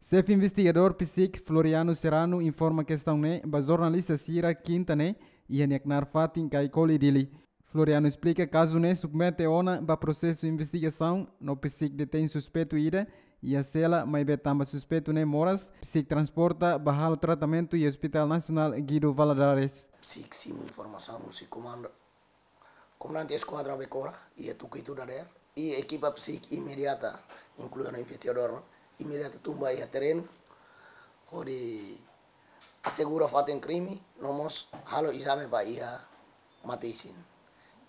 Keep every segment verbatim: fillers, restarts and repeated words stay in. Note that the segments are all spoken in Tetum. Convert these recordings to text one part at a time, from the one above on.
Xefe investigadór PCIC, Floriano Serrano, informa kestaun ne'e ba jornalista sira kinta ne'e iha nia knaar fatin Caicoli, Dili. Floriano esplika kazu ne'e submete ona ba prosesu investigasaun, no PCIC detein suspeitu ida iha sela, maibé tanba suspeitu ne'e moras, PCIC transporta ba halo tratamentu iha Hospital Nasionál Guido Valadares. PCIC simu informasaun husi komandu, komandante eskuadra Becora iha Tucuito dadeer, i ekipa PCIC imediata, inklui ona investigadór, no imediata tun ba iha terrenu hodi asegura fatin krime, no mós halo ezame ba iha mate-isin.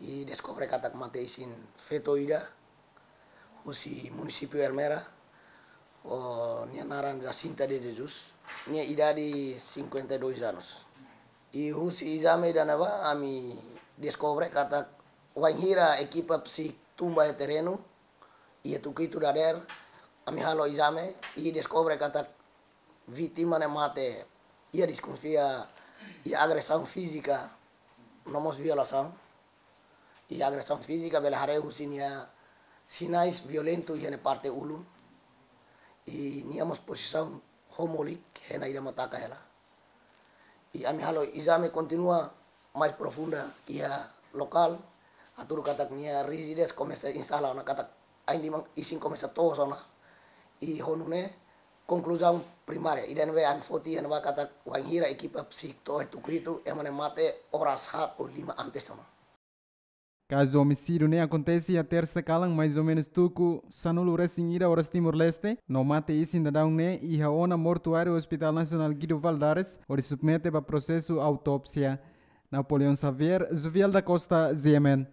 I deskobre katak mate-isin feto ida husi munisípiu Ermera, ho nia naran Jacinta de Jesus, nia idade cinquenta e dois anos. I husi ezame ida-ne'ebá ami deskobre katak wainhira ekipa PCIC tun ba iha terrenu iha Tucuito dadeer, ami halo ezame i deskobre katak vítima ne'e mate iha deskonfia iha agresaun fízika, no mós violasaun. Iha agresaun fízika bele haree husi nia sinais violentu iha nia parte ulun. I nia mós pozisaun ho molik, hena ida mak taka hela. I ami halo ezame kontinua mais profunda iha lokál, hatudu katak nia rijidez komesa instala ona, katak ain-liman isin komesa toos ona. I ho nune'e konkluzaun primária ida ne'ebé ami foti iha ne'ebá katak wainhira ekipa PCIC to'o iha Tucuito, ema ne'e mate oras haat ou lima antes ona. Kazu omisídiu ne'e akontese iha tersa kalan, mais ou menus tuku sanulu-resin-ida oras Timor-Leste, no mate-isin daudaun ne'e iha ona mortuáriu Hospital Nasionál Guido Valadares, hodi submete ba prosesu autópsia. Napoleão Xavier, Jovial da Costa, G M N.